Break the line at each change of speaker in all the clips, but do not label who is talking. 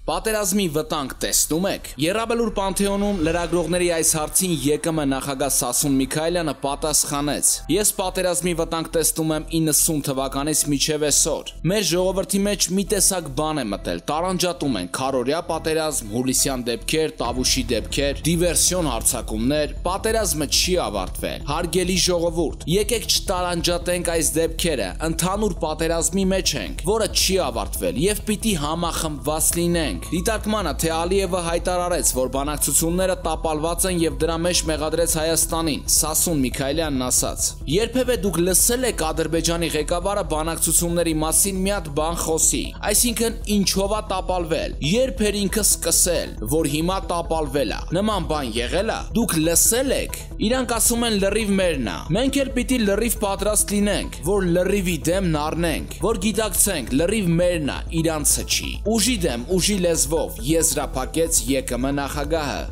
Պատերազմի վտանգ տեսնում եք։ Եռաբելուր Պանթեոնում լրագրողների այս հարցին ԵԿՄ նախագահ Սասուն Միքայելյանը պատասխանեց. Ես պատերազմի վտանգ տեսնում եմ 90 թվականից մինչև այսօր։ Մեր ժողովրդի մեջ մի տեսակ բան է մտել, տարանջատում են քարորյա պատերազմ, հուլիսյան դեպքեր, Տավուշի դեպքեր, դիվերսիոն հարձակումներ, պատերազմը չի ավարտվել։ Հարգելի ժողովուրդ, եկեք չտարանջատենք այս դեպքերը, ընդհանուր պատերազմի մեջ ենք, որը չի ավարտվել եւ պիտի համախմբված լինենք։ Դիտարկմանը թե Ալիևը հայտարարեց, որ բանակցությունները տապալված են եւ դրա մեջ մեղադրեց Հայաստանին, Սասուն Միքայելյանն ասաց. Երբևէ դուք լսել եք Ադրբեջանի ղեկավարը բանակցությունների մասին մի հատ բան խոսի, այսինքն ինչով է տապալվել, երբ էր ինքը սկսել, որ հիմա տապալվել է, նման բան եղել է, դուք լսել եք, իրանք ասում են լրիվ մերն է, մենք էլ պիտի լրիվ պատրաստ լինենք, որ լրիվի դեմն առնենք, որ գիտակցենք լրիվ մերն է, իրանցը չի, ուժի դեմ, ուժի լեզվով եզրափակեց ԵԿՄ նախագահը։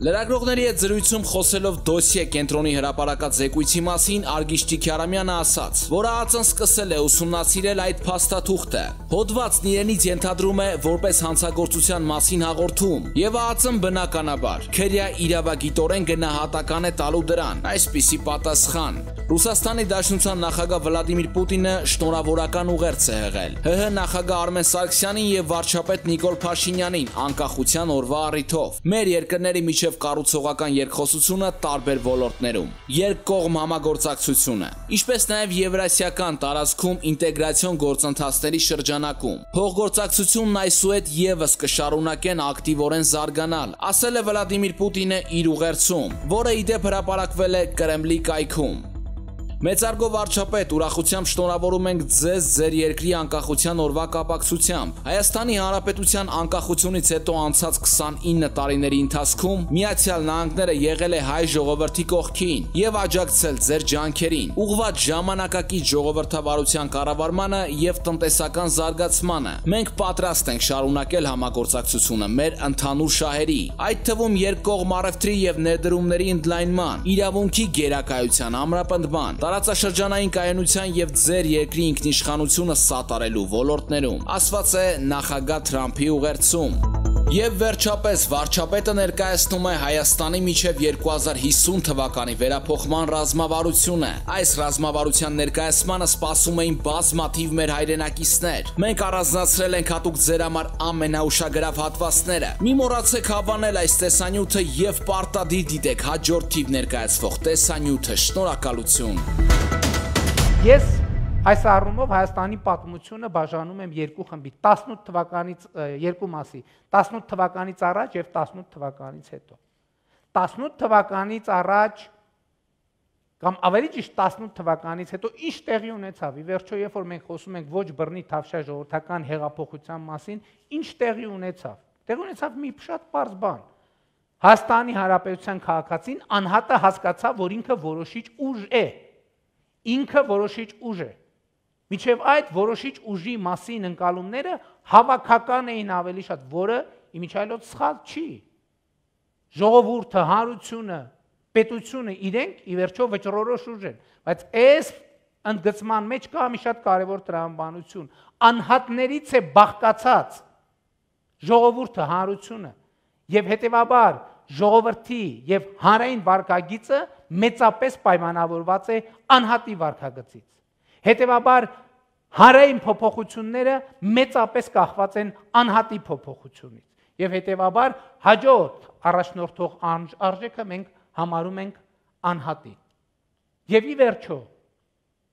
Լրագրողների հետ զրույցում խոսելով դոսիե կենտրոնի հրապարակած զեկույցի մասին Արգիշտի Քյարամյանը ասաց, որ ԱԱԾ-ն սկսել է ուսումնասիրել այդ փաստաթուղթը։ Հոդվածն իրենից ենթադրում է որպես հանցագործության մասին հաղորդում, եւ ԱԱԾ-ն բնականաբար քրեա իրավագիտորեն գնահատական է տալու դրան այսպիսի պատասխան։ Ռուսաստանի Դաշնության նախագահ Վլադիմիր Պուտինը շնորհավորական ուղերձ է եղել ՀՀ նախագահ Արմեն Սարգսյանին եւ վարչապետ Նիկոլ Փաշինյանին անկախության օրվա առիթով։ Մեր երկրների միջև կառուցողական երկխոսությունը տարբեր ոլորտներում, երկկողմ համագործակցությունը, ինչպես նաև եվրասիական տարածքում ինտեգրացիոն գործընթացների շրջանակում։ Փոխգործակցությունն այսուհետ եւս կշարունակեն ակտիվորեն զարգանալ, ասել է Վլադիմիր Պուտինը իր ուղերձում, որը ի դեպ հրապարակվել է Կրեմլի կայքում։ Մեծարգո վարչապետ, ուրախությամբ շնորհավորում ենք ձեզ ձեր երկրի անկախության օրվա կապակցությամբ։ Հայաստանի Հանրապետության անկախությունից հետո անցած 29 տարիների ընթացքում Միացյալ Նահանգները եղել է հայ ժողովրդի կողքին եւ աջակցել ձեր ջանքերին, ուղղված ժամանակակից ժողովրդավարության կառավարմանը եւ տնտեսական զարգացմանը։ Մենք պատրաստ ենք շարունակել համագործակցությունը մեր ընդհանուր շահերի, այդ թվում երկկողմ առևտրի եւ ներդրումների ընդլայնման, իրավունքի գերակայության ամրապնդման, տարածաշրջանային կայունության եւ ձեր երկրի ինքնիշխանությունը սատարելու ոլորտներում, ասված է նախագահ Թրամփի ուղերձում։ Եվ վերջապես վարչապետը ներկայացնում է Հայաստանի միջև 2050 թվականի վերափոխման ռազմավարությունը։ Այս ռազմավարության ներկայացմանը սպասում էին բազմաթիվ մեր հայրենակիցներ։ Մենք առանձնացրել ենք հատուկ ձեր համար ամենաուշագրավ հատվածները։ Մի մոռացեք հավանել այս տեսանյութը եւ պարտադիր դիտեք հաջորդ թիվ ներկայացվող տեսանյութը։ Շնորհակալություն։
Ես այս առումով Հայաստանի պատմությունը բաժանում եմ երկու խմբի, 18 թվականից երկու մասի, 18 թվականից առաջ եւ 18 թվականից հետո։ 18 թվականից առաջ կամ ավելի ճիշտ 18 թվականից հետո ինչ տեղի ունեցավ։ Ի վերջո, երբ որ մենք խոսում ենք ոչ բռնի թավշյա ժողովրդական հեղափոխության մասին, ինչ տեղի ունեցավ։ Տեղի ունեցավ մի շատ պարզ բան։ Հայաստանի Հանրապետության քաղաքացին անհատը հասկացավ, որ ինքը որոշիչ ուժ է։ Ինքը որոշիչ ուժ է։ Միջև այդ որոշիչ ուժի մասին ընկալումները հավաքական էին ավելի շատ, որը իմիջիայլոց սխալ չի։ Ժողովուրդը, հանրությունը, պետությունը իրենք ի վերջո վճռորոշ ուժ են, բայց այս ընդգծման մեջ կա մի շատ կարևոր տրամաբանություն։ Անհատներից է բաղկացած ժողովուրդը, հանրությունը, եւ հետեւաբար ժողովրդի եւ հանրային վարկագիծը մեծապես պայմանավորված է անհատի վարկագծից։ Հետևաբար հանրային փոփոխությունները մեծապես կախված են անհատի փոփոխությունից եւ հետևաբար հաջորդ առաջնորդող արժեքը մենք համարում ենք անհատին։ Եվ ի վերջո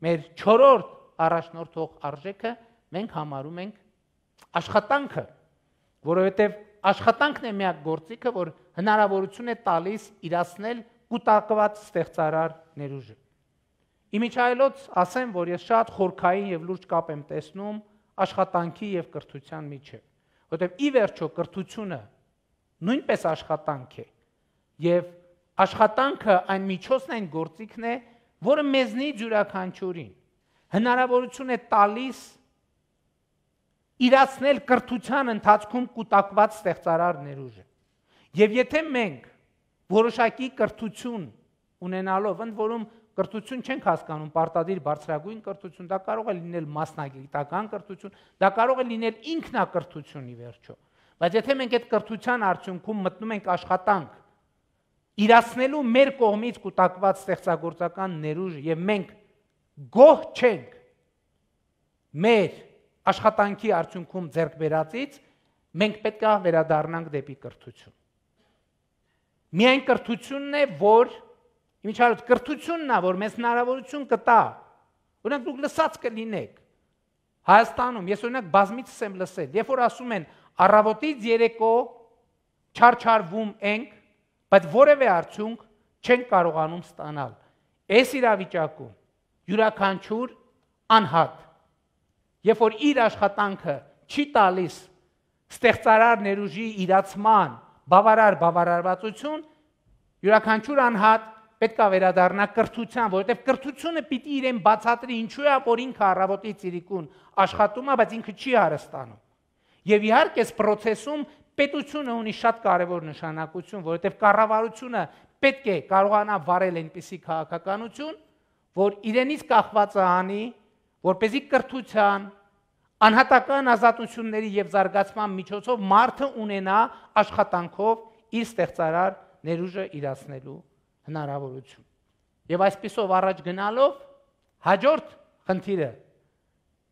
մեր 4-րդ առաջնորդող արժեքը մենք համարում ենք աշխատանքը, որովհետեւ աշխատանքն է միակ գործիքը, որ հնարավորություն է տալիս իրացնել կուտակված ստեղծարար ներուժը։ Իմիջայլոց ասեմ, որ ես շատ խորքային եւ լուրջ կապ եմ տեսնում աշխատանքի եւ կրթության միջեւ, որովհետեւ ի վերջո կրթությունը նույնպես աշխատանք է եւ աշխատանքը այն միջոցն այն գործիքն է, որը մեզնից յուրաքանչյուրին հնարավորություն է տալիս իրացնել կրթության ընթացքում կուտակված ստեղծարար ներուժը։ Եվ եթե մենք որոշակի կրթություն ունենալով, ընդ որում կրթություն չենք հասկանում պարտադիր բարձրագույն կրթություն, դա կարող է լինել մասնագիտական կրթություն, դա կարող է լինել ինքնակրթություն ի վերջո, Բայց եթե մենք այդ կրթության արդյունքում մտնում ենք աշխատանք, իրացնելու մեր կողմից կուտակված ստեղծագործական ներուժ եւ մենք գոհ չենք մեր աշխատանքի արդյունքում ձեռք բերածից, մենք պետք է վերադառնանք դեպի կրթություն։ Միայն կրթությունն է, որ իմիջիայլոց կրթությունն է, որ մեզ հնարավորություն կտա։ Օրինակ դուք լսած կլինեք Հայաստանում, ես օրինակ բազմիցս եմ լսել, երբ որ ասում են առավոտից երեկո չարչարվում ենք, բայց որևէ արդյունք չենք կարողանում ստանալ։ Այս իրավիճակում յուրաքանչյուր անհատ, երբ որ իր աշխատանքը չի տալիս ստեղծարար ներուժի իրացման բավարարվածություն, յուրաքանչյուր անհատ պետք է վերադառնա կրթության, որովհետև կրթությունը պիտի իրեն բացատրի ինչու է, որ ինքը առավոտից իրիկուն աշխատում է, բայց ինքը չի հարստանում։ Եվ իհարկե այս process-ում պետությունը ունի շատ կարևոր նշանակություն, որովհետև կառավարությունը պետք է կարողանա վարել այնպիսի քաղաքականություն, որ իրենից կախվածը անի, որպեսզի կրթության, անհատական ազատությունների եւ զարգացման միջոցով մարդը ունենա աշխատանքով իր ստեղծարար ներուժը իրացնելու հնարավորություն։ Եվ այսպիսով առաջ գնալով հաջորդ խնդիրը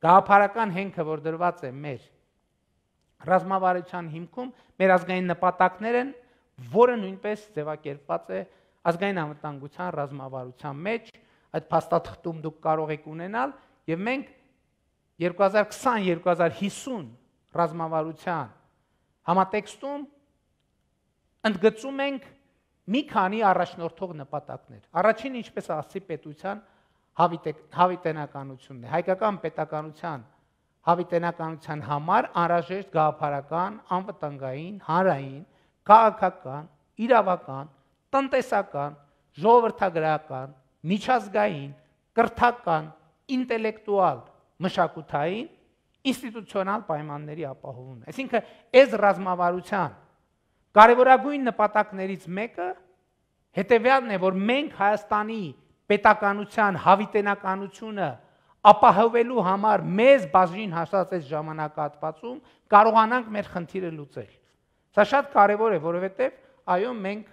գաղափարական հենքը, որ դրված է մեր ռազմավարության հիմքում, մեր ազգային նպատակներ են, որը նույնպես ձևակերպված է ազգային անվտանգության ռազմավարության մեջ, այդ փաստաթղթում դուք կարող եք ունենալ, եւ մենք 2020-2050 ռազմավարության համատեքստում ընդգծում ենք մի քանի առաջնորդող նպատակներ։ Առաջին, ինչպես ասացի, պետության հավիտենականությունն է։ Հայկական պետականության հավիտենականության համար անհրաժեշտ գաղափարական, անվտանգային, հանրային, քաղաքական, իրավական, տնտեսական, ժողովրդագրական, միջազգային, կրթական, ինտելեկտուալ, մշակութային, ինստիտուցիոնալ պայմանների ապահովումն է։ Այսինքն, այս ռազմավարության կարևորագույն նպատակներից մեկը հետևյալն է, որ մենք Հայաստանի պետականության հավիտենականությունը ապահովելու համար մեզ բաժին հասած այս ժամանակահատվածում կարողանանք մեր խնդիրը լուծել։ Սա շատ կարևոր է, որովհետև այո, մենք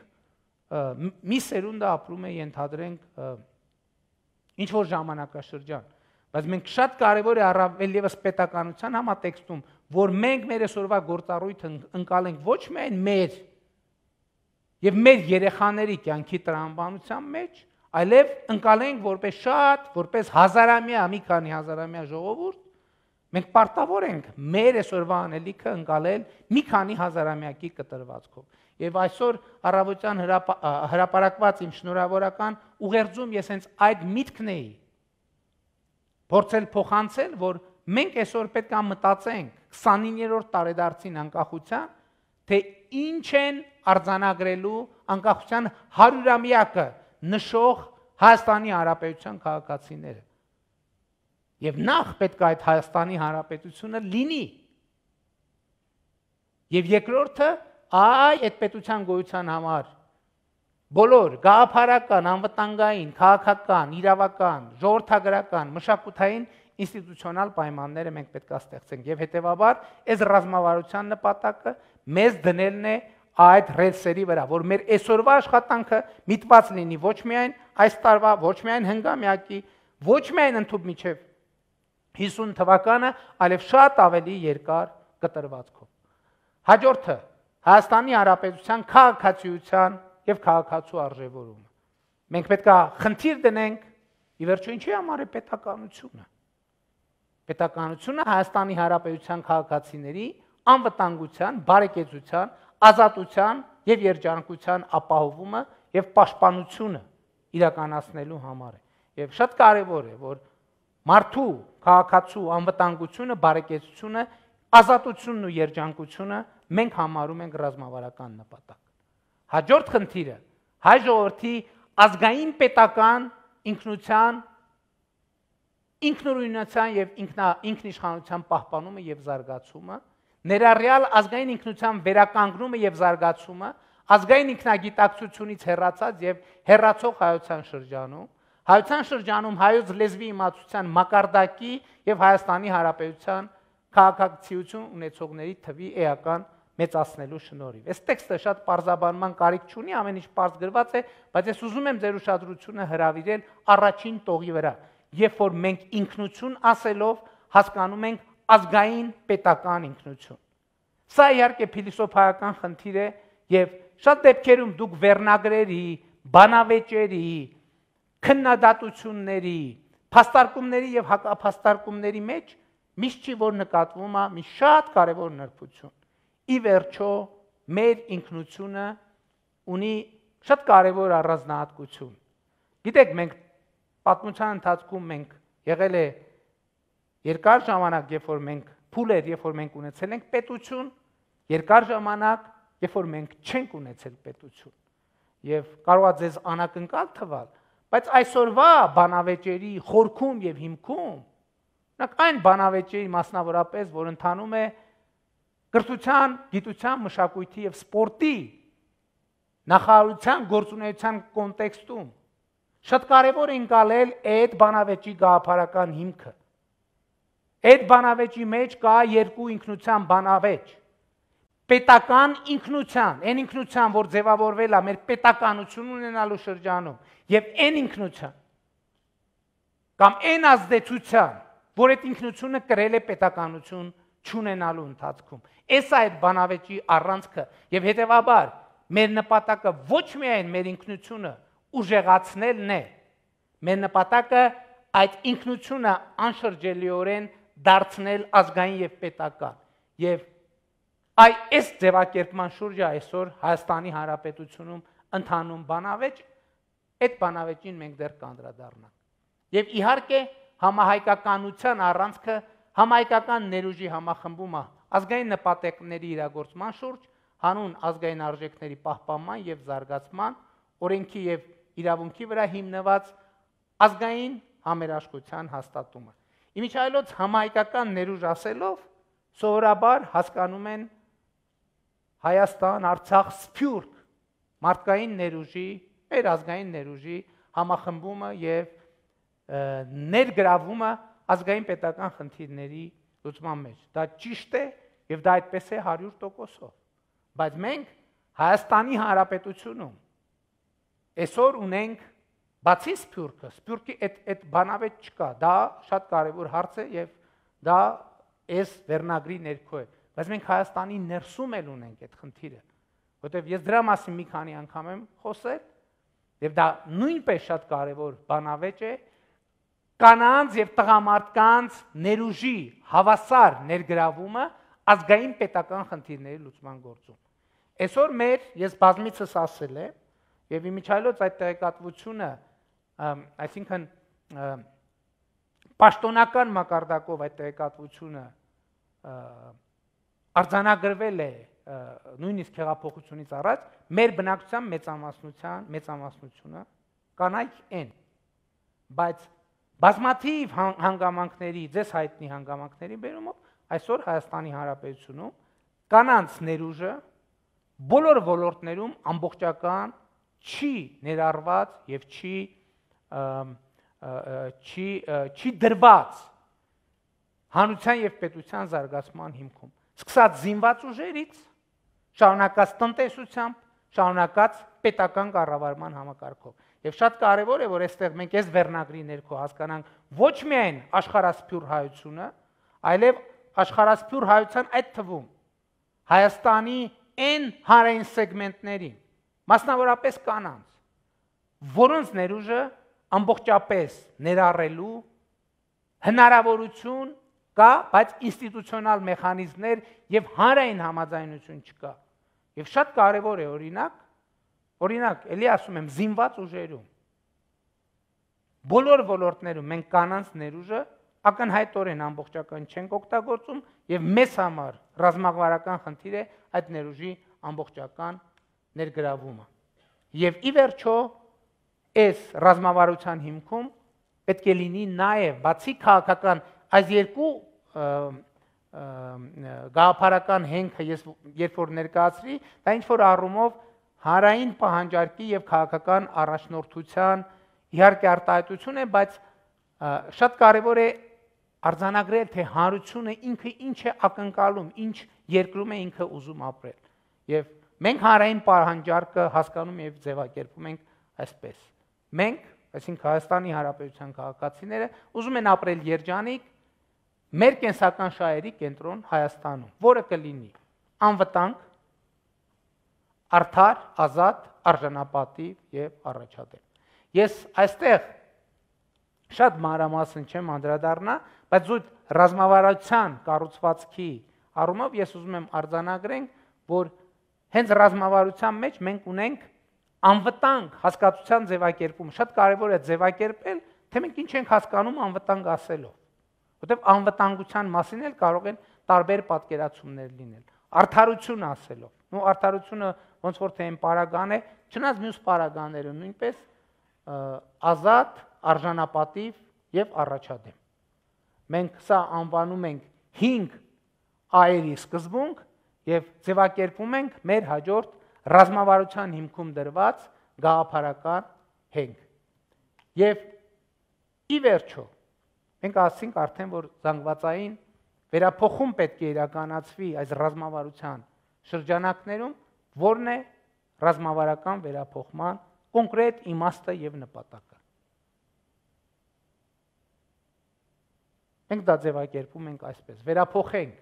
մի սերունդը ապրում է, ենթադրենք, ինչ որ ժամանակաշրջան, բայց մենք շատ կարևոր է առավել ևս պետականության համատեքստում, որ մենք մեր այսօրվա գործառույթը ընկալենք ոչ միայն մեր եւ մեր երեխաների կյանքի տրամաբանության մեջ, այլև ընկալենք որպես հազարամյա, մի քանի հազարամյա ժողովուրդ, մենք պարտավոր ենք մեր այսօրվա անելիքը ընկալել մի քանի հազարամյակի կտրվածքով։ Եվ այսօր առավոտյան հրապարակված իմ շնորհավորական ուղերձում ես հենց այդ միտքն էի փորձել փոխանցել, որ մենք այսօր պետք է մտածենք 29-րդ տարեդարձին անկախության, թե ինչ են արձանագրելու անկախության 100-ամյակը նշող Հայաստանի Հանրապետության քաղաքացիները։ Եվ նախ պետք է այդ Հայաստանի Հանրապետությունը լինի։ Եվ երկրորդը, այդ պետության գոյության համար բոլոր գաղափարական, անվտանգային, քաղաքական, իրավական, ժողովրդագրական, մշակութային ինստիտուցիոնալ պայմանները մենք պետք է ստեղծենք եւ հետեւաբար այս ռազմավարության նպատակը մեզ դնելն է այդ ռելսերի վրա, որ մեր այսօրվա աշխատանքը միտված լինի ոչ միայն այս տարվա, ոչ միայն հնգամյակի, ոչ միայն ընդհանուր միջև 50 թվականը, այլև շատ ավելի երկար կտրվածքով։ Հաջորդը Հայաստանի Հանրապետության քաղաքացիության եւ քաղաքացու արժեվորումը։ Մենք պետք է խնդիր դնենք, ի վերջո ինչի համար է պետականությունը։ Պետականությունը Հայաստանի Հանրապետության քաղաքացիների անվտանգության, բարեկեցության, ազատության եւ երջանկության ապահովումը եւ պաշտպանությունը իրականացնելու համար է։ Եվ շատ կարեւոր է, որ մարդու քաղաքացու անվտանգությունը, բարեկեցությունը, ազատությունն ու երջանկությունը մենք համարում ենք ռազմավարական նպատակ։ Հաջորդ խնդիրը հայ ժողովրդի ազգային պետական ինքնության, ինքնուրույնության եւ ինքնիշխանության պահպանումը եւ զարգացումը, ներառյալ ազգային ինքնության վերականգնումը եւ զարգացումը, ազգային ինքնագիտակցությունից հեռացած եւ հեռացող հայության շրջանում հայոց լեզվի իմացության մակարդակի եւ Հայաստանի Հանրապետության քաղաքացիություն ունեցողների թվի էական մեծացնելու շնորհիվ։ Այս տեքստը շատ պարզաբանման կարիք չունի, ամեն ինչ պարզ գրված է, բայց ես ուզում եմ ձեր ուշադրությունը հրավիրել առաջին տողի վրա, երբ որ մենք ինքնություն ասելով հասկանում ենք ազգային պետական ինքնություն։ Սա իհարկե փիլիսոփայական խնդիր է եւ շատ դեպքերում դուք վերնագրերի, բանավեճերի, քննադատությունների, փաստարկումների եւ հակափաստարկումների մեջ միշտ չի որ նկատվում է մի շատ կարեւոր նրբություն։ Ի վերջո մեր ինքնությունը ունի շատ կարևոր առանձնահատկություն։ Գիտեք, մենք պատմության ընթացքում մենք եղել է երկար ժամանակ, երբ որ մենք փուլ էր, երբ որ մենք ունեցել ենք պետություն, երկար ժամանակ, երբ որ մենք չենք ունեցել պետություն։ Եվ կարող է ձեզ անակնկալ թվալ, բայց այսօրվա բանավեճերի խորքում եւ հիմքում, այն բանավեճերի մասնավորապես, որ ընթանում է կրթության, գիտության, մշակույթի եւ սպորտի նախարարության գործունեության կոնտեքստում շատ կարևոր է ընկալել այդ բանավեճի գաղափարական հիմքը։ Այդ բանավեճի մեջ կա երկու ինքնության բանավեճ։ Պետական ինքնության, այն ինքնության, որ ձևավորվել է մեր պետականություն ունենալու շրջանում, եւ այն ինքնության կամ այն ազդեցության, որ այդ ինքնությունը կրել է պետականություն չունենալու ընթացքում։ Այս այդ բանավեճի առանցքը եւ հետեւաբար մեր նպատակը ոչ միայն մեր ինքնությունը ուժեղացնելն է, մեր նպատակը այդ ինքնությունը անշրջելիորեն դարձնել ազգային եւ պետական։ Եվ այս ձևակերպման շուրջը այսօր Հայաստանի Հանրապետությունում ընթանում բանավեճ, այդ բանավեճին մենք դեռ կանդրադառնանք։ Եվ իհարկե համահայկականության առանցքը համահայկական ներուժի համախմբումը ազգային նպատակների իրագործման շուրջ, հանուն ազգային արժեքների պահպանման եւ զարգացման, օրենքի եւ իրավունքի վրա հիմնված ազգային համերաշխության հաստատումը։ Իմիջայլոց համահայկական ներուժ ասելով սովորաբար հասկանում են Հայաստան, Արցախ, Սփյուռք մարդկային ներուժի, մեր ազգային ներուժի համախմբումը եւ ներգրավումը ազգային պետական խնդիրների լուծման մեջ։ Դա ճիշտ է եւ դա այդպես է 100%-ով։ Բայց մենք Հայաստանի Հանրապետությունում այսօր ունենք բացի Սփյուռքը, Սփյուռքի այդ բանավեճ չկա, դա շատ կարևոր հարց է եւ դա այս վերնագրի ներքո է, բայց մենք Հայաստանի ներսում էլ ունենք այդ խնդիրը, որտեղ ես դրա մասին մի քանի անգամ եմ խոսել եւ դա նույնպես շատ կարևոր բանավեճ է կանանց եւ տղամարդկանց ներուժի հավասար ներգրավումը ազգային պետական խնդիրների լուծման գործում։ Այսօր ես բազմիցս ասել եմ եւ իմիջայլոց այդ տեղեկատվությունը, այսինքն պաշտոնական մակարդակով այդ տեղեկատվությունը արձանագրվել է նույնիսկ հեղափոխությունից առաջ, մեր բնակչության մեծամասնությունը կանայք են, բայց բազմաթիվ հանգամանքների, ձեզ հայտնի հանգամանքների բերումով այսօր Հայաստանի Հանրապետությունում կանանց ներուժը բոլոր ոլորտներում ամբողջական չի ներառված եւ չի դրված հանրության եւ պետության զարգացման հիմքում։ Սկսած զինված ուժերից, շարունակած տնտեսությամբ, շարունակած պետական կառավարման համակարգով։ Եվ շատ կարևոր է, որ այստեղ մենք այս վերնագրի ներքո հասկանանք ոչ միայն աշխարհասփյուռ հայությունը, այլև աշխարհասփյուռ հայության այդ թվում Հայաստանի այն հանրային սեգմենտներին, մասնավորապես կանանց, որոնց ներուժը ամբողջապես ներառելու հնարավորություն կա, բայց ինստիտուցիոնալ մեխանիզմներ եւ հանրային համաձայնություն չկա։ Եվ շատ կարևոր է օրինակ, ելի ասում եմ, զինված ուժերում բոլոր ոլորտներում մենք կանանց ներուժը ակնհայտորեն ամբողջական չենք օգտագործում եւ մեզ համար ռազմավարական խնդիր է այդ ներուժի ամբողջական ներգրավումը։ Եվ ի վերջո այս ռազմավարության հիմքում պետք է լինի նաեւ բացի քաղաքական այս երկու գաղափարական հենքը ես երբ որ ներկայացրի, դա ինչ որ առումով հանրային պահանջարկի եւ քաղաքական առաջնորդության իհարկե արտահայտություն է, բայց շատ կարեւոր է արձանագրել, թե հանրությունը ինքը ինչ է ակնկալում, ինչ երկրում է ինքը ուզում ապրել։ Եվ մենք հանրային պահանջարկը հասկանում եւ ձևակերպում ենք այսպես։ Մենք, այսինքն Հայաստանի Հանրապետության քաղաքացիները, ուզում են ապրել երջանիկ մեր կենսական շահերի կենտրոն Հայաստանում, որը կլինի անվտանգ, արդար, ազատ, արժանապատիվ եւ առաջադեմ։ Ես այստեղ շատ մանրամասն չեմ անդրադառնա, բայց զուտ ռազմավարության կառուցվածքի առումով ես ուզում եմ արձանագրենք, որ հենց ռազմավարության մեջ մենք ունենք անվտանգ հասկացության ձևակերպում։ Շատ կարևոր է ձևակերպել, թե մենք ինչ ենք հասկանում անվտանգ ասելով, որտեղ անվտանգության մասին էլ կարող են տարբեր պատկերացումներ լինել։ Արդարություն ասելով, ու արդարությունը ոնց որ թե այն պարագան է, չնայած մյուս պարագաները նույնպես ազատ, արժանապատիվ եւ առաջադեմ։ Մենք սա անվանում ենք 5 այերի սկզբունք եւ ձևակերպում ենք մեր հաջորդ ռազմավարության հիմքում դրված գաղափարական հենք։ Եվ ի վերջո մենք ասացինք արդեն, որ զանգվածային վերափոխում պետք է իրականացվի այս ռազմավարության շրջանակներում, որն է ռազմավարական վերափոխման կոնկրետ իմաստը եւ նպատակը։ Մենք դա ձևակերպում ենք այսպես. վերափոխենք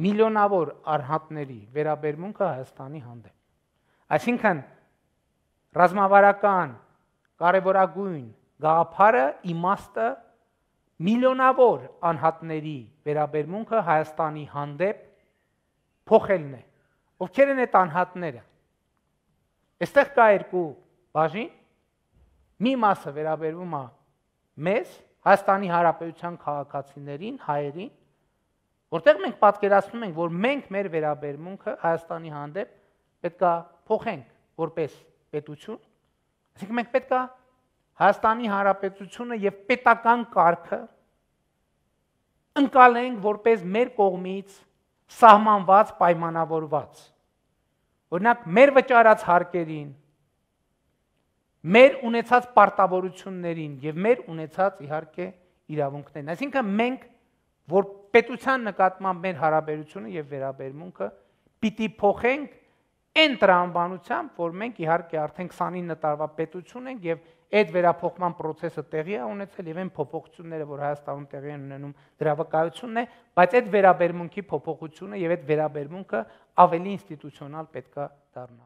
միլիոնավոր արհատների վերաբերմունքը Հայաստանի հանդեպ։ Այսինքն ռազմավարական կարևորագույն գաղափարը, իմաստը միլիոնավոր անհատների վերաբերմունքը Հայաստանի հանդեպ փոխելն է։ Ովքեր են այդ անհատները։ Այստեղ կա երկու բաժին, մի մասը վերաբերվում է մեզ, Հայաստանի Հանրապետության քաղաքացիներին, հայերին, որտեղ մենք պատկերացնում ենք, որ մենք մեր վերաբերմունքը Հայաստանի հանդեպ պետք է փոխենք որպես պետություն, այսինքն մենք պետք է Հայաստանի Հանրապետությունը եւ պետական կարգը ընկալենք որպես մեր կողմից սահմանված, պայմանավորված։ Օրինակ, մեր վճարած հարկերին, մեր ունեցած պարտավորություններին եւ մեր ունեցած իհարկե իրավունքներին։ Այսինքն մենք, որ պետության նկատմամբ մեր հարաբերությունը եւ վերաբերմունքը պիտի փոխենք այն տրամաբանությամբ, որ մենք իհարկե արդեն 29 տարվա պետություն ենք եւ այդ վերափոխման process-ը տեղի է ունեցել եւ այն փոփոխությունները, որ Հայաստանում տեղի են ունենում, դրա վկայությունն է, բայց այդ վերաբերմունքի փոփոխությունը եւ այդ վերաբերմունքը ավելի ինստիտուցիոնալ պետք է դառնա։